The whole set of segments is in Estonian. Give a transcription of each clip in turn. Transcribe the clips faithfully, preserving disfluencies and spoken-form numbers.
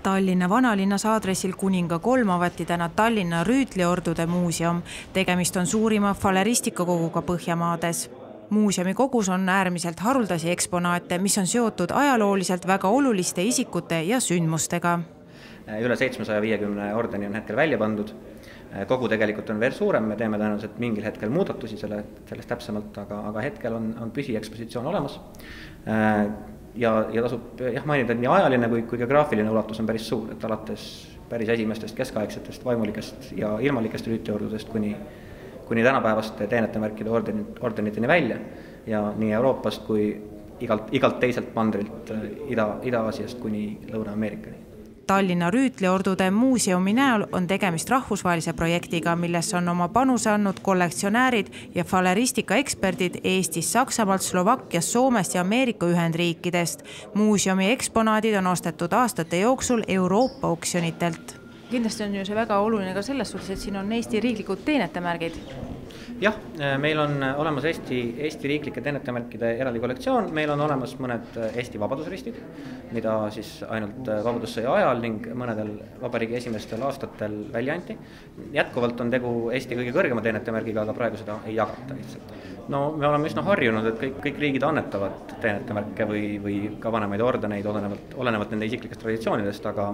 Tallinna vanalinnas aadressil Kuninga kolm avati täna Tallinna Rüütliordude muuseum. Tegemist on suurima faleristikakoguga Põhjamaades. Muuseumi kogus on äärmiselt haruldasi eksponaate, mis on seotud ajalooliselt väga oluliste isikute ja sündmustega. Üle seitsmesaja viiekümne ordeni on hetkel välja pandud. Kogu tegelikult on veel suurem, me teeme tõenäoliselt mingil hetkel muudatusi selle, sellest täpsemalt, aga, aga hetkel on, on püsiekspositsioon olemas. Ja, ja tasub jah, mainida, et nii ajaline kui, kui geograafiline ulatus on päris suur, et alates päris esimestest keskaegsetest vaimulikest ja ilmalikest rüütliordudest kuni, kuni tänapäevaste teenetemärkide ordeniteni välja ja nii Euroopast kui igalt, igalt teiselt mandrilt Ida, Ida-Aasiast kuni Lõuna-Ameerikani. Tallinna Rüütliordude muuseumi näol on tegemist rahvusvahelise projektiga, milles on oma panuse andnud kollektsionäärid ja faleristika eksperdid Eestis, Saksamaalt, Slovakkiast, Soomest ja Ameerika Ühendriikidest. Muuseumi eksponaadid on ostetud aastate jooksul Euroopa oksjonitelt. Kindlasti on ju see väga oluline ka selles suhtes, et siin on Eesti riiklikud teenetemärgid. Jah, meil on olemas Eesti, Eesti riiklike teenetemärkide eraldi kollektsioon, meil on olemas mõned Eesti vabadusristid, mida siis ainult vabadussõja ajal ning mõnedel vabariigi esimestel aastatel välja anti. Jätkuvalt on tegu Eesti kõige kõrgema teenetemärgiga, aga praegu seda ei jagata lihtsalt. No me oleme üsna harjunud, et kõik, kõik riigid annetavad teenetemärke või, või ka vanemaid ordeneid olenevalt, olenevalt nende isiklikest traditsioonidest, aga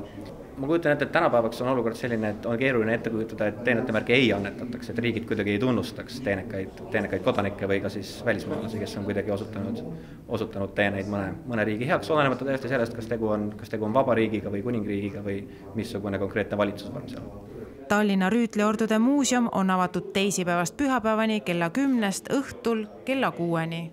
ma kujutan ette, et tänapäevaks on olukord selline, et on keeruline ette kujutada, et teenetemärke ei annetatakse, et riigid kuidagi ei tunnustaks teenekaid, teenekaid kodanikke või ka siis välismaalasi, kes on kuidagi osutanud, osutanud teeneid mõne, mõne riigi heaks, olenemata täiesti sellest, kas tegu on, kas tegu on vabariigiga või kuningriigiga või missugune konkreetne valitsusvorm seal. Tallinna Rüütliordude muuseum on avatud teisipäevast pühapäevani kella kümnest õhtul kella kuueni.